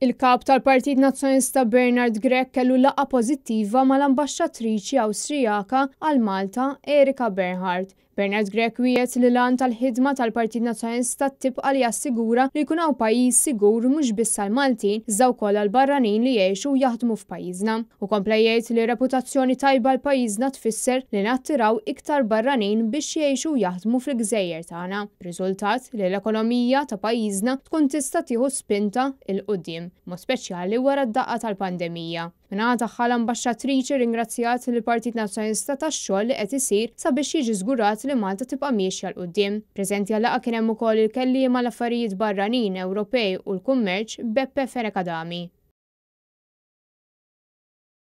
Il-Kap tal-Partit Nazzjonalista Bernard Grech kellu laqgħa pożittiva mal-Ambaxxatriċi Awstrijaka għal Malta, Erika Bernhard. Bernard Grech wiegħed li l-għan tal-ħidma tal-Partit Nazzjonalista tibqa' li jassigura li jkun hawn pajjiż sigur mhux biss għall-Maltin iżda wkoll għall-barranin li jgħixu u jaħdmu f'pajjiżna. Hu kompla jgħid li reputazzjoni tajba għal pajjiżna tfisser li nattiraw iktar barranin biex jgħixu u jaħdmu fil-gżejjer tagħna, b'riżultat li l-ekonomija ta' pajjiżna tkun tista' tieħu spinta 'l quddiem, b'mod speċjali wara d-daqqa tal-pandemija. Min-naħa tagħha l-Ambaxxatriċi rringrazzjat lill-Partit Nazzjonalista tax-xogħol li qed isir sabiex jiġi żgurat li Malta tibqa' miexja 'l quddiem. Preżenti għal-laqgħa kien hemm ukoll il-Kelliem għall-Affarijiet Barranin, Ewropej u l-Kummerċ, Beppe Fenech Adami.